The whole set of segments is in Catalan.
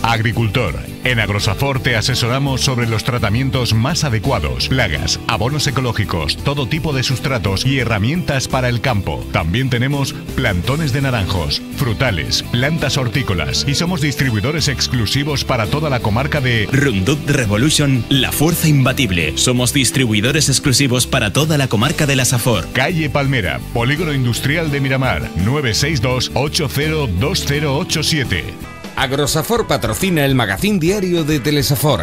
Agricultor. En Agrosafor te asesoramos sobre los tratamientos más adecuados, plagas, abonos ecológicos, todo tipo de sustratos y herramientas para el campo. También tenemos plantones de naranjos, frutales, plantas hortícolas y somos distribuidores exclusivos para toda la comarca de Roundup Revolution, la fuerza imbatible. Somos distribuidores exclusivos para toda la comarca de la Safor. Calle Palmera, Polígono Industrial de Miramar, 962 802087. Agrosafor patrocina el magazín diario de Telesafor.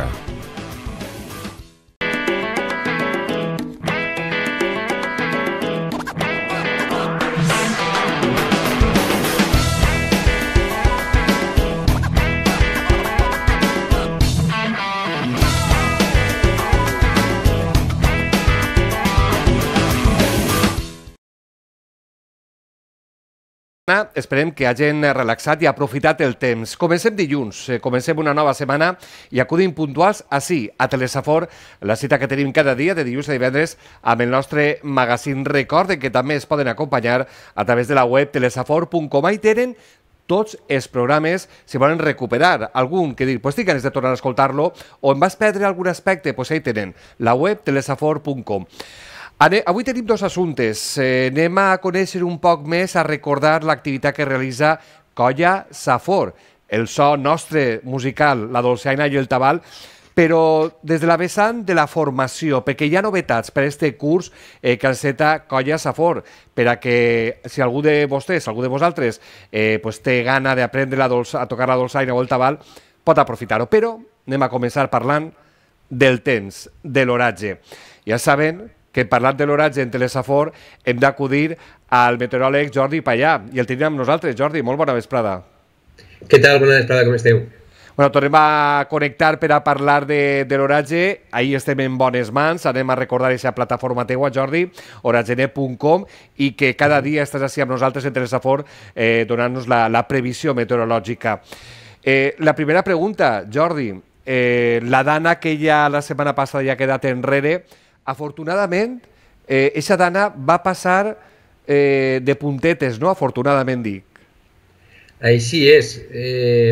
Esperem que hagin relaxat i aprofitat el temps. Comencem dilluns, comencem una nova setmana i acudim puntuals ací, a Telesafor, la cita que tenim cada dia de dilluns a divendres amb el nostre magazín. Recorden que també es poden acompanyar a través de la web telesafor.com. Hi tenen tots els programes, si volen recuperar algun, que dir, pues tinc ganes de tornar a escoltar-lo, o em vas perdre algun aspecte, pues hi tenen la web telesafor.com. Avui tenim dos assumptes. Anem a conèixer un poc més, a recordar l'activitat que realitza Colla Safor, el so nostre musical, la dolçaina i el tabal, però des de la vessant de la formació, perquè hi ha novetats per a aquest curs que enceta Colla Safor, per a que si algú de vostès, algú de vosaltres, té gana d'aprendre a tocar la dolçaina o el tabal, pot aprofitar-ho. Però anem a començar parlant del temps, de l'oratge. Ja saben que parlant de l'oratge en Telesafor hem d'acudir al meteoròleg Jordi Pallà, i el tenim amb nosaltres. Jordi, molt bona vesprada. Què tal? Bona vesprada, com esteu? Tornem a connectar per a parlar de l'oratge. Ahir estem en bones mans, anem a recordar aquesta plataforma teua, Jordi, oragenet.com, i que cada dia estàs així amb nosaltres en Telesafor donant-nos la previsió meteorològica. La primera pregunta, Jordi, la dana que ja la setmana passada ja ha quedat enrere, afortunadament, aquesta dana va passar de puntetes, no? Afortunadament, dic. Així és.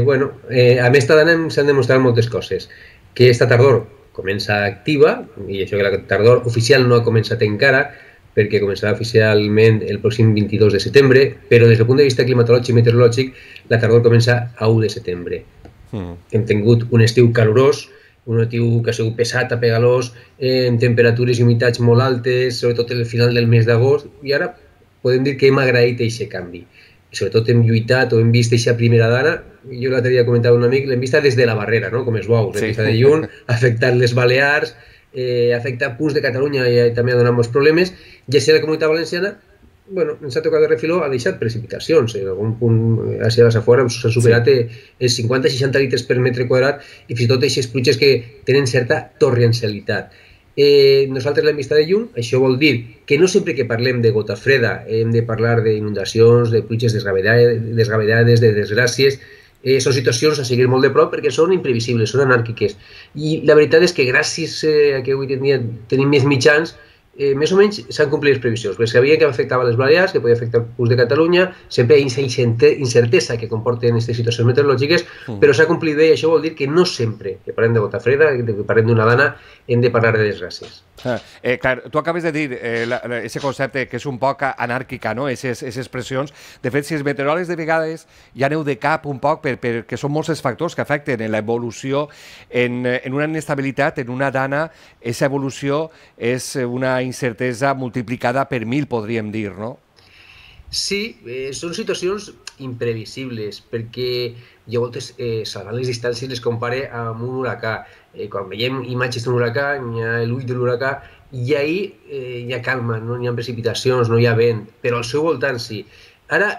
Amb aquesta dana s'han demostrat moltes coses. Que esta tardor comença activa, i això que la tardor oficial no ha començat encara, perquè començarà oficialment el pròxim 22 de setembre, però des del punt de vista climatològic i meteorològic, la tardor comença a 1 de setembre. Hem tingut un estiu calorós, un estiu que ha sigut pesat, apegalós, amb temperatures i humitats molt altes, sobretot al final del mes d'agost, i ara podem dir que hem agraït aquest canvi. I sobretot hem lluitat o hem vist aquesta primera dana, jo l'altre dia comentava un amic, l'hem vista des de la barrera, com els bous, l'hem vista de lluny, ha afectat les Balears, ha afectat punts de Catalunya i també ha donat molts problemes, i així la Comunitat Valenciana ens ha tocat de refiló, ha deixat precipitacions. En algun punt, a la Safor, s'ha superat els 50-60 litres per metre quadrat i fins i tot aquestes pluges que tenen certa torrencialitat. Nosaltres l'hem vista de lluny, això vol dir que no sempre que parlem de gota freda hem de parlar d'inundacions, de pluges desgavellades, de desgràcies. Són situacions a seguir molt de prop perquè són imprevisibles, són anàrquiques. I la veritat és que gràcies a que avui en dia tenim més mitjans, més o menys s'han complit les previsions, perquè sabia que afectava les Balears, que podia afectar el punts de Catalunya, sempre hi ha aquesta incertesa que comporten aquestes situacions meteorològiques, però s'ha complit bé i això vol dir que no sempre que parlem de gota freda, que parlem d'una dana, hem de parlar de desgràcies. Clar, tu acabes de dir aquest concepte que és un poc anàrquica, no? Aquestes expressions. De fet, si els meteoròlegs de vegades ja aneu de cap un poc perquè són molts els factors que afecten en l'evolució, en una inestabilitat, en una dana, aquesta evolució és una incertesa multiplicada per 1000, podríem dir, no? Sí, són situacions imprevisibles, perquè jo a voltes, salvant les distàncies, les compare amb un huracà. Quan veiem imatges d'un huracà, hi ha l'ull de l'huracà, i ahir hi ha calma, no hi ha precipitacions, no hi ha vent, però al seu voltant sí. Ara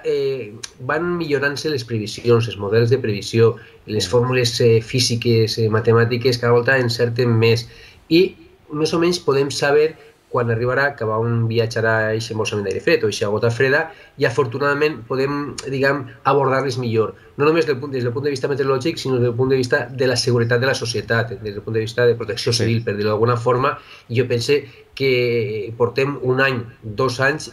van millorant-se les previsions, els models de previsió, les fórmules físiques, matemàtiques, cada volta encerten més, i més o menys podem saber quan arribarà, que on viatjarà aquest embolsament d'aire fred o aquesta gota freda, i afortunadament podem, diguem, abordar-les millor. No només des del punt de vista meteorològic, sinó des del punt de vista de la seguretat de la societat, des del punt de vista de protecció civil, per dir-ho d'alguna forma. I jo penso que portem un any, 2 anys,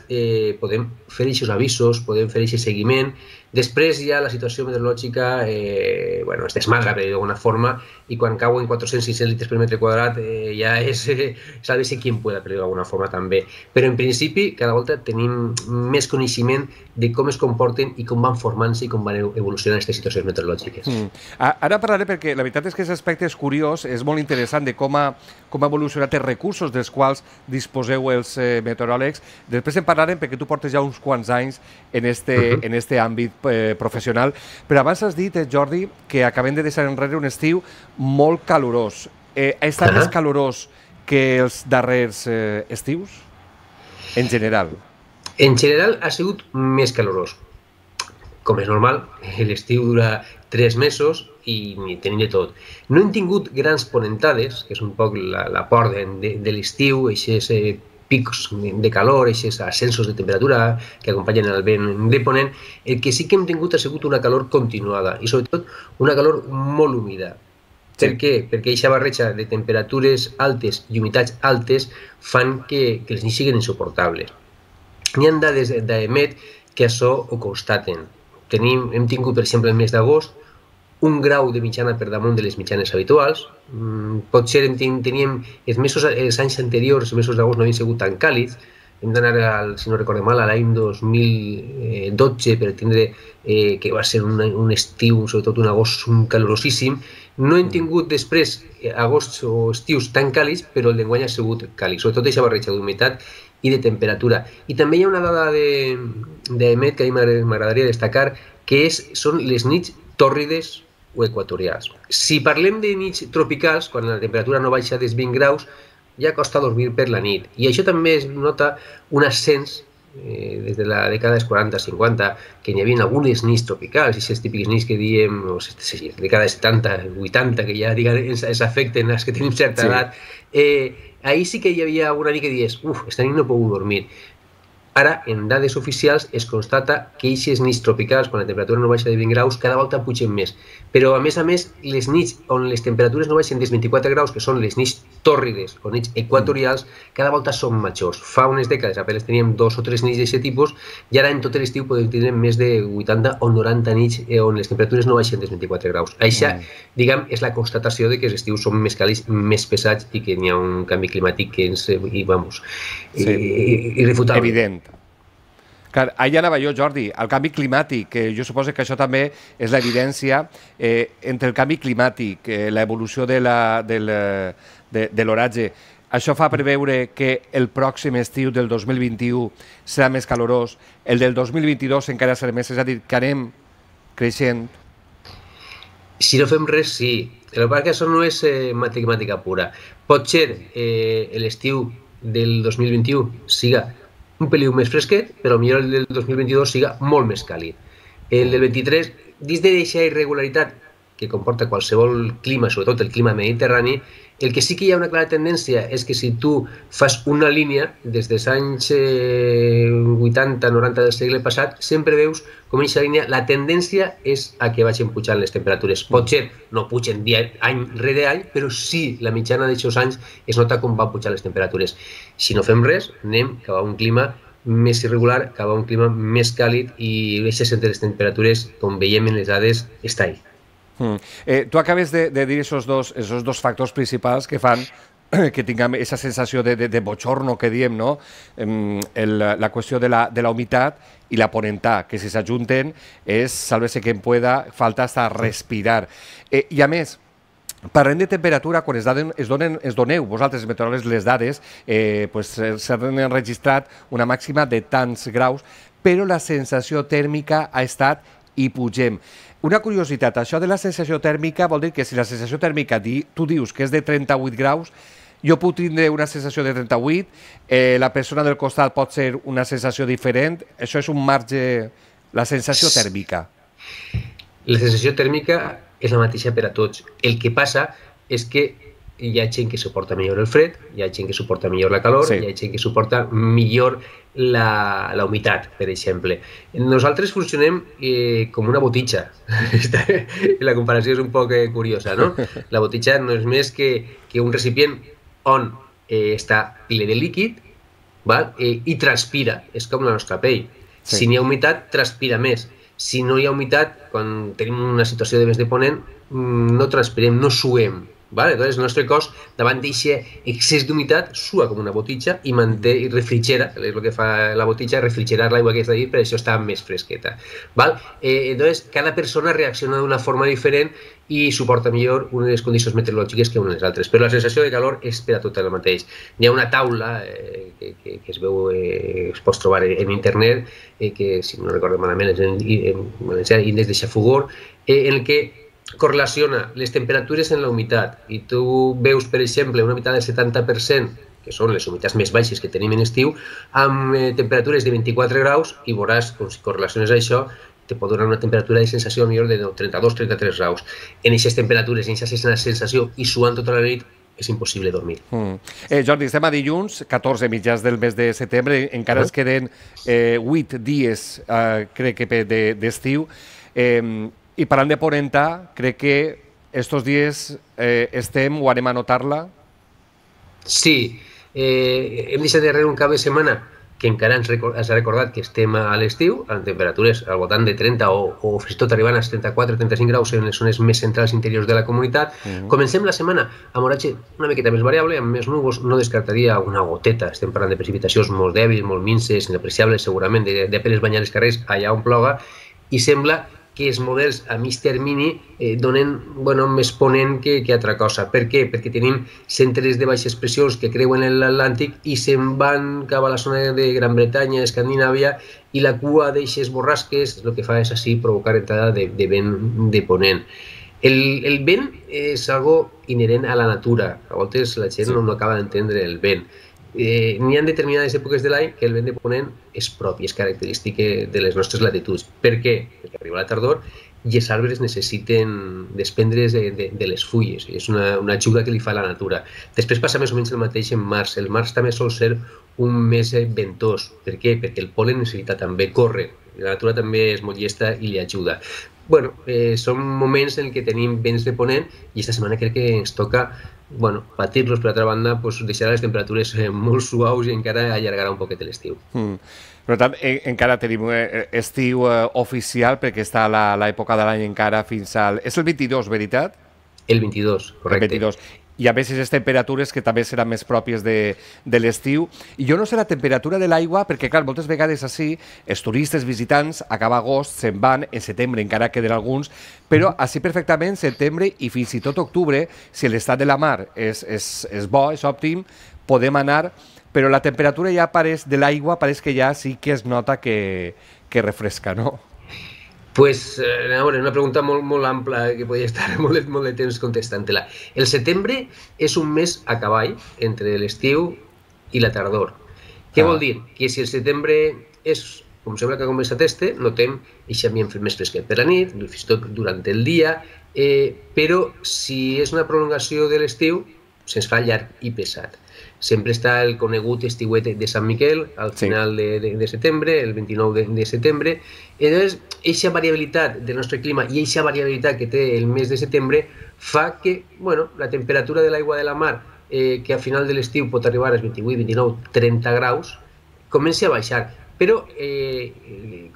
podem fer aquests avisos, podem fer aquest seguiment, Després ja la situació meteorològica es desmadra, per dir d'alguna forma, i quan cauen 400-600 litres per metre quadrat ja és sálvese quien pueda, per dir d'alguna forma també. Però en principi cada volta tenim més coneixement de com es comporten i com van formant-se i com van evolucionant aquestes situacions meteorològiques. Ara parlaré perquè la veritat és que aquest aspecte és curiós, és molt interessant de com ha evolucionat els recursos dels quals disposeu els meteoròlegs. Després en parlarem perquè tu portes ja uns quants anys en este àmbit professional. Però abans has dit, Jordi, que acabem de deixar enrere un estiu molt calorós. Ha estat més calorós que els darrers estius? En general. En general ha sigut més calorós. Com és normal, l'estiu dura 3 mesos i tenim de tot. No hem tingut grans ponentades, que és un poc la por de l'estiu, aquests pics de calor, aquests ascensos de temperatura que acompanyen el vent de ponent. El que sí que hem tingut ha sigut una calor continuada i sobretot una calor molt humida. Per què? Perquè aquesta barreja de temperatures altes i humitats altes fan que les nits siguin insuportables. Hi ha dades d'EMET que això ho constaten. Hem tingut, per exemple, el mes d'agost, 1 grau de mitjana per damunt de les mitjanes habituals. Potser teníem els anys anteriors, els mesos d'agost no havien sigut tan càlids. Hem d'anar, si no recordem mal, a l'any 2012 per tindre que va ser un estiu, sobretot un agost calorosíssim. No hem tingut després agosts o estius tan càlids, però el d'enguany ha sigut càlid, sobretot aquesta barreja d'humitat i de temperatura. I també hi ha una dada d'EMET que a mi m'agradaria destacar, que són les nits tòrrides o equatorials. Si parlem de nits tropicals, quan la temperatura no baixa dels 20 graus, ja costa dormir per la nit. I això també es nota un ascens des de la dècada dels 40-50, que hi havia algunes nits tropicals, i aquestes típiques nits que diem, la dècada de 70-80, que ja ens afecten els que tenim certa edat, ahir sí que hi havia una nit que dius, esta nit no puc dormir. Ara, en dades oficials, es constata que aquestes nits tropicals, quan la temperatura no baixa de 20 graus, cada volta pugen més. Però, a més, les nits on les temperatures no baixen dels 24 graus, que són les nits tòrrides o nits equatorials, cada volta són majors. Fa unes dècades apenas teníem 2 o 3 nits d'aquest tipus, i ara en tot l'estiu podem tenir més de 80 o 90 nits on les temperatures no baixen dels 24 graus. Això, diguem, és la constatació de que els estius són més càlids, més pesats i que hi ha un canvi climàtic que és, irrefutable. Evident. Clar, allà anava jo, Jordi, el canvi climàtic, jo suposo que això també és l'evidència entre el canvi climàtic, l'evolució de l'oratge. Això fa preveure que el pròxim estiu del 2021 serà més calorós, el del 2022 encara serà més, és a dir, que anem creixent. Si no fem res, sí. El que passa que això no és matemàtica pura. Pot ser l'estiu del 2021 siga un peliu més fresquet, però potser el del 2022 siga molt més càlid. El del 23, dins d'aquesta irregularitat que comporta qualsevol clima, sobretot el clima mediterrani, el que sí que hi ha una clara tendència és que si tu fas una línia des dels anys 80-90 del segle passat, sempre veus com en aquesta línia la tendència és a que vagin pujant les temperatures. Potser no pugen any rere any, però sí la mitjana d'aquests anys es nota com van pujar les temperatures. Si no fem res, anem cap a un clima més irregular, cap a un clima més càlid i aquestes entre les temperatures, com veiem en les dades, està ahí. Tu acabes de dir aquests dos factors principals que fan que tinguem aquesta sensació de bochorno que diem, no? La qüestió de la humitat i la ponentà, que si s'ajunten és, sálvese quien pueda, falta hasta respirar. I a més, parlem de temperatura, quan es doneu vosaltres, els meteoròlegs, les dades, s'han enregistrat una màxima de tants graus, però la sensació tèrmica ha estat i pugem. Una curiositat, això de la sensació tèrmica vol dir que si la sensació tèrmica tu dius que és de 38 graus, jo puc tindre una sensació de 38, la persona del costat pot ser una sensació diferent, això és un marge, la sensació tèrmica. La sensació tèrmica és la mateixa per a tots. El que passa és que hi ha gent que suporta millor el fred, hi ha gent que suporta millor la calor, hi ha gent que suporta millor la humitat, per exemple. Nosaltres funcionem com una botitxa. La comparació és un poc curiosa, no? La botitxa no és més que un recipient on està ple de líquid i transpira. És com la nostra pell. Si n'hi ha humitat, transpira més. si no hi ha humitat, quan tenim una situació de vents de ponent, no transpirem, no suem. Vale? Entonces, el nostre cos, davant d'aquest excés d'humitat, sua com una botitxa i manté i refrigera, és el que fa la botitxa, refrigerar l'aigua que està dins, per això està més fresqueta. Val? Entonces, cada persona reacciona d'una forma diferent i suporta millor unes condicions meteorològiques que unes altres. Però la sensació de calor és per a tot el mateix. Hi ha una taula que es veu, es pot trobar en internet, que, si no recordo malament, és en valencià, índex de Xafogor, en el que correlaciona les temperatures en la humitat i tu veus, per exemple, una humitat del 70%, que són les humitats més baixes que tenim en estiu, amb temperatures de 24 graus i veuràs, si correlaciones això, te pot donar una temperatura de sensació millor de 32-33 graus. En aquestes temperatures, en aquesta sensació i suant tota la nit, és impossible dormir. Jordi, estem a dilluns, 14 mitjans del mes de setembre, encara es queden 8 dies, crec que d'estiu. I parlant de ponenta, crec que estos dies estem o anem a notar-la? Sí, hem deixat darrere un cap de setmana que encara ens ha recordat que estem a l'estiu, amb temperatures al voltant de 30 o fins i tot arribant als 34-35 graus en les zones més centrals interiors de la comunitat. Comencem la setmana amb oratge una miqueta més variable, amb més núvols, no descartaria una goteta. Estem parlant de precipitacions molt dèbils, molt minces, inapreciables segurament, de penes banyar els carrers allà on ploga, i sembla que els models a mig termini donen més ponent que altra cosa. Per què? Perquè tenim centres de baixes pressions que creuen l'Atlàntic i se'n van cap a la zona de Gran Bretanya, Escandinàvia, i la cua d'eixes borrasques el que fa és així provocar entrada de vent de ponent. El vent és algo inherent a la natura. A voltes la gent no acaba d'entendre el vent. N'hi ha determinades èpoques de l'any que el vent de ponent és propi, és característic de les nostres latituds. Per què? Perquè arriba la tardor i els arbres necessiten desprendre's de les fulles. És una ajuda que li fa la natura. Després passa més o menys el mateix en març. El març també sol ser un mes ventós. Per què? Perquè el pol·len necessita també córrer. La natura també és molt llesta i li ajuda. Són moments en què tenim vents de ponent i aquesta setmana crec que ens toca patir-los. Per altra banda, deixarà les temperatures molt suaus i encara allargarà un poquet l'estiu. Per tant, encara tenim estiu oficial perquè està l'època de l'any encara fins al... És el 22, veritat? El 22, correcte. El 22. I a més aquestes temperatures que també seran més pròpies de l'estiu. I jo no sé la temperatura de l'aigua, perquè clar, moltes vegades així els turistes visitants a cap agost se'n van, en setembre encara queden alguns, però així perfectament setembre i fins i tot octubre, si l'estat de la mar és bo, és òptim, podem anar, però la temperatura ja de l'aigua pareix que ja sí que es nota que refresca, no? Pues, una pregunta molt ampla que podria estar molt de temps contestant-te-la. El setembre és un mes a cavall entre l'estiu i la tardor. Què vol dir? Que si el setembre és, com sembla que ha començat notem aquest ambient més fresquet per la nit, fins i tot durant el dia, però si és una prolongació de l'estiu, se'ns fa llarg i pesat. Sempre està el conegut estiuet de Sant Miquel al final de setembre, el 29 de setembre. Llavors, aquesta variabilitat del nostre clima i aquesta variabilitat que té el mes de setembre fa que la temperatura de l'aigua de la mar, que a final de l'estiu pot arribar als 28, 29, 30 graus, comenci a baixar. Però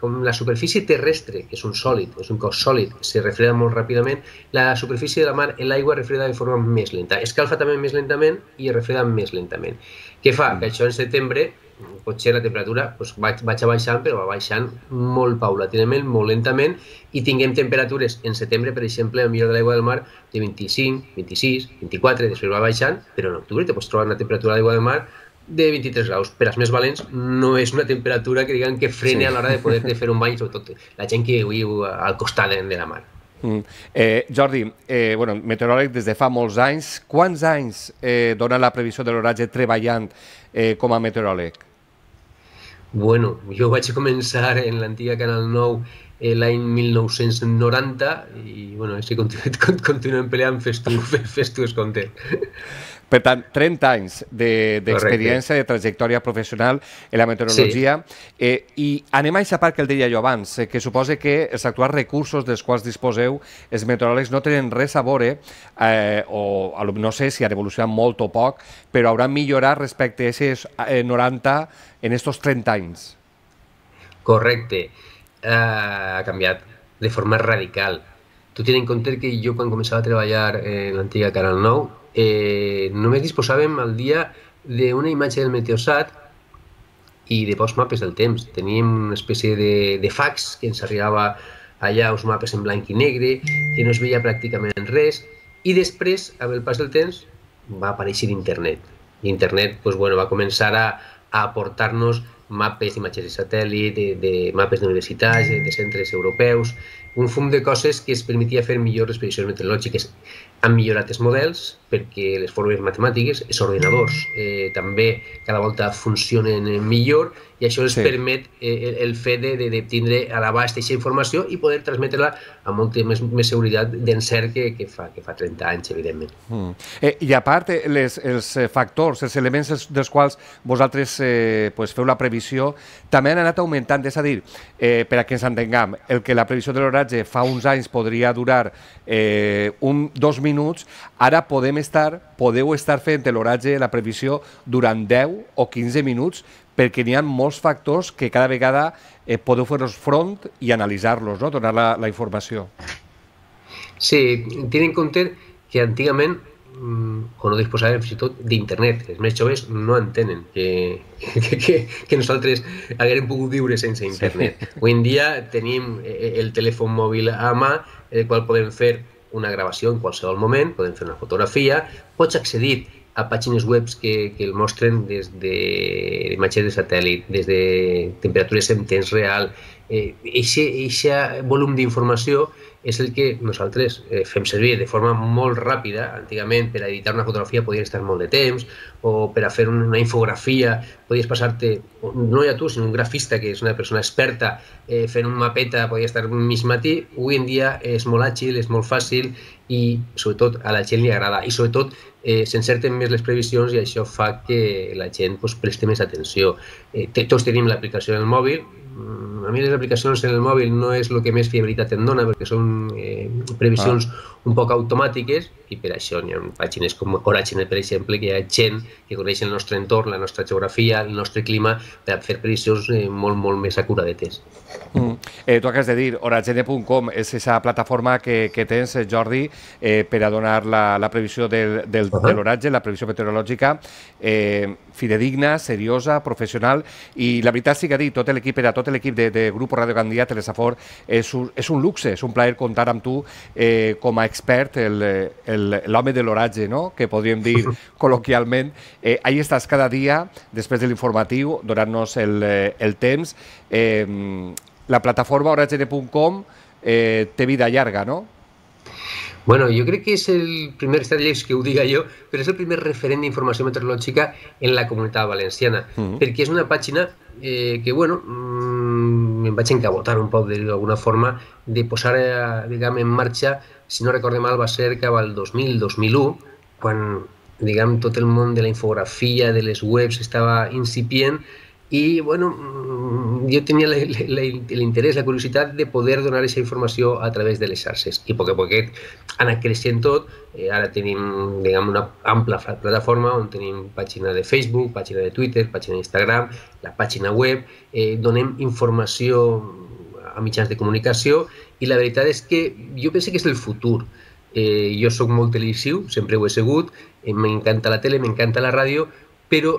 com la superfície terrestre, que és un sòlid, és un cos sòlid, se refreda molt ràpidament, la superfície de la mar, l'aigua refreda de forma més lenta. Escalfa també més lentament i es refreda més lentament. Què fa? Que això en setembre, potser la temperatura vaig baixant, però va baixant molt paulatinament, molt lentament, i tinguem temperatures en setembre, per exemple, al millor de l'aigua del mar, de 25, 26, 24, després va baixant, però en octubre te pots trobar una temperatura d'aigua del mar de 23 graus. Per als més valents no és una temperatura que diguem que frene a l'hora de poder fer un bany, sobretot la gent que viu al costat de la mar. Jordi, meteoròleg des de fa molts anys. Quants anys dona la previsió de l'oratge treballant com a meteoròleg? Bueno, jo vaig començar en l'antiga Canal 9 l'any 1990 i si continuem peleant, fes tu es compte. Per tant, 30 anys d'experiència, de trajectòria professional en la meteorologia. I anem a aquesta part que el deia jo abans, que suposa que els actuals recursos dels quals disposeu, els meteoròlegs no tenen res a veure, o no sé si han evolucionat molt o poc, però hauran millorat respecte a aquests 90 en aquests 30 anys. Correcte. ha canviat de forma radical. Tu tens en compte que jo quan començava a treballar en l'antiga Canal 9 només disposàvem al dia d'una imatge del Meteosat i de pocs mapes del temps. Teníem una espècie de fax que ens arribava allà, uns mapes en blanc i negre, que no es veia pràcticament res, i després, amb el pas del temps, va aparèixer internet. I internet va començar a aportar-nos mapes d'imatges de satèl·lit, de mapes d'universitats, de centres europeus, un fum de coses que es permetia fer millor les previsions meteorològiques. Han millorat els models perquè les formes matemàtiques, els ordinadors també cada volta funcionen millor i això ens permet el fet de tindre a l'abast aquesta informació i poder transmetre-la amb molta més seguretat d'encert que fa 30 anys, evidentment. I a part, els factors, els elements dels quals vosaltres feu la previsió, també han anat augmentant, és a dir, per a que ens entenguem, el que la previsió de l'oratge fa uns anys podria durar 2 minuts, ara podeu estar fent l'oratge, la previsió, durant 10 o 15 minuts, perquè n'hi ha molts factors que cada vegada podeu fer-los front i analitzar-los, no? Donar la informació. Sí, ten en compte que antigament no disposàvem fins i tot d'internet. Els més joves no entenen que nosaltres haguérem pogut viure sense internet. Avui en dia tenim el telèfon mòbil a mà, el qual podem fer una gravació en qualsevol moment, podem fer una fotografia, pots accedir a pàgines web que el mostren des d'imatges de satèl·lit, des de temperatures en temps real. Aquest volum d'informació és el que nosaltres fem servir de forma molt ràpida. Antigament, per a editar una fotografia podies estar molt de temps, o per a fer una infografia podies passar-te, no ja tu, sinó un grafista que és una persona experta fent un mapeta, podia estar mig matí. Avui en dia és molt àgil, és molt fàcil i sobretot a la gent li agrada i sobretot s'encerten més les previsions i això fa que la gent presti més atenció. Tots tenim l'aplicació en el mòbil. A mi les aplicacions en el mòbil no és el que més fiabilitat em dona perquè són previsions un poc automàtiques i per això hi ha pàgines com Oracle, per exemple, que hi ha gent que coneix el nostre entorn, la nostra geografia, el nostre clima per fer previsions molt, molt més acuradetes. Tu acabes de dir, Oracle.com és aquesta plataforma que tens, Jordi, per a donar la previsió de l'oratge, la previsió meteorològica, fidedigna, seriosa, professional, i la veritat sí que ha dit, tot l'equip de Grupo Radio Gandia, Telesafor, és un luxe, és un plaer comptar amb tu com a expert, l'home de l'oratge, no?, que podríem dir col·loquialment. Ahí estàs cada dia, després de l'informatiu, donant-nos el temps. La plataforma Oracle.com té vida llarga, no? Bueno, jo crec que és el primer, està lleig que ho diga jo, però és el primer referent d'informació meteorològica en la Comunitat Valenciana, perquè és una pàgina que, bueno, em vaig encabotar un poc, d'alguna forma, de posar, diguem, en marxa, si no recorde mal, va ser cap al 2000-2001, quan, diguem, tot el món de la infografia, de les webs, estava incipient, i, bueno, jo tenia l'interès, la curiositat de poder donar aquesta informació a través de les xarxes. I a poc a poquet ha anat creixent tot. Ara tenim, diguem, una ampla plataforma on tenim pàgina de Facebook, pàgina de Twitter, pàgina d'Instagram, la pàgina web, donem informació a mitjans de comunicació i la veritat és que jo penso que és el futur. Jo soc molt televisiu, sempre ho he sigut, m'encanta la tele, m'encanta la ràdio, però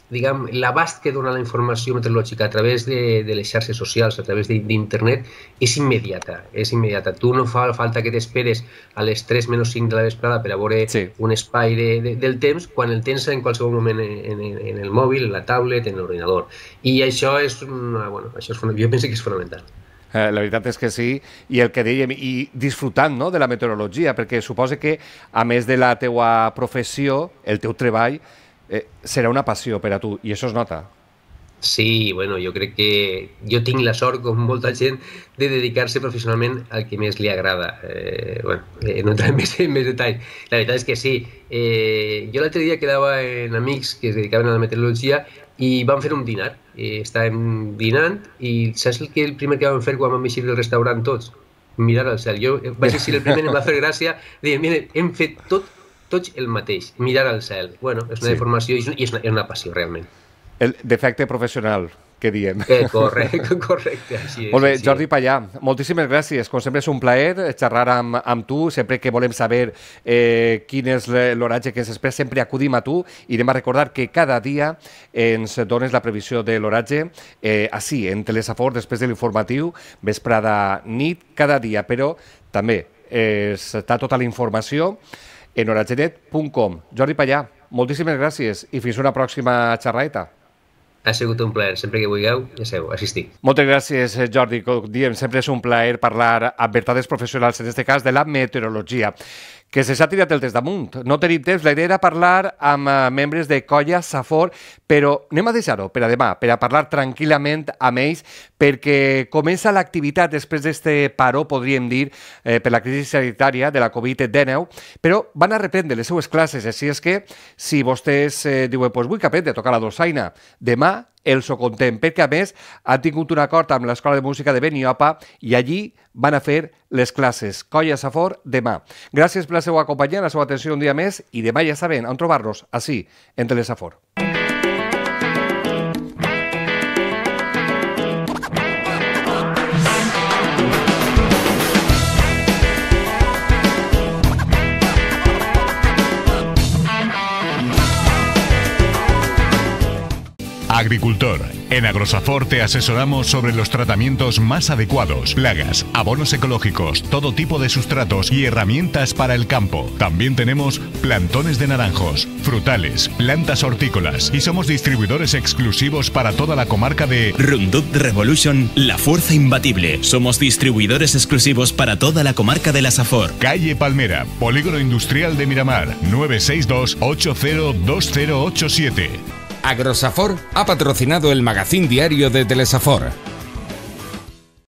l'abast que dona la informació meteorològica a través de les xarxes socials, a través d'internet, és immediata. Tu no fa falta que t'esperes a les 3 menys 5 de la vesprada per a veure un espai del temps, quan el tens en qualsevol moment en el mòbil, en la tablet, en l'ordinador. I això és, jo penso que és fonamental. La veritat és que sí, i el que dèiem, i disfrutant de la meteorologia, perquè suposa que, a més de la teua professió, el teu treball, serà una passió per a tu, i això es nota. Sí, bueno, jo crec que jo tinc la sort, com molta gent, de dedicar-se professionalment al que més li agrada. No entraré en més detalls. La veritat és que sí. Jo l'altre dia quedava en amics que es dedicaven a la meteorologia i vam fer un dinar. Estàvem dinant i saps el primer que vam fer quan vam eixir del restaurant tots? Mirar al cel. Jo vaig eixir el primer, em va fer gràcia, dient, mira, hem fet tots el mateix, mirar al cel. Bueno, és una deformació i és una passió, realment. El defecte professional, que diem. Correcte, així és. Molt bé, Jordi Pallà, moltíssimes gràcies. Com sempre és un plaer xerrar amb tu, sempre que volem saber quin és l'oratge que s'espera, sempre acudim a tu i anem a recordar que cada dia ens dones la previsió de l'oratge així, en Telesafor, després de l'informatiu, vesprada, nit, cada dia, però també està tota la informació en oratgenet.com. Jordi Pallà, moltíssimes gràcies i fins una pròxima xerraeta. Ha sigut un plaer. Sempre que vulgueu, ja sabeu, assistir. Moltes gràcies, Jordi. Com diem, sempre és un plaer parlar amb vertaders professionals, en aquest cas de la meteorologia, que se s'ha tirat el test damunt. No tenim temps, la idea era parlar amb membres de Colla Safor, però anem a deixar-ho per a demà, per a parlar tranquil·lament amb ells, perquè comença l'activitat després d'este paró, podríem dir, per la crisi sanitària de la Covid-19, però van a reprendre les seues classes, així és que si vostès diuen, pues vull que aprendre a tocar la dolçaina, demà els ho contem, perquè a més han tingut un acord amb l'Escola de Música de Beniopa i allí van a fer les classes. Colla Safor demà. Gràcies per la seva companyia, la seva atenció un dia més i demà ja saben on trobar-nos, així, en Telesafor. Agricultor. En Agrosafor te asesoramos sobre los tratamientos más adecuados, plagas, abonos ecológicos, todo tipo de sustratos y herramientas para el campo. También tenemos plantones de naranjos, frutales, plantas hortícolas y somos distribuidores exclusivos para toda la comarca de Roundup Revolution, la fuerza imbatible. Somos distribuidores exclusivos para toda la comarca de la Safor. Calle Palmera, Polígono Industrial de Miramar, 962 802087. Agrosafor ha patrocinado el magazín diario de Telesafor.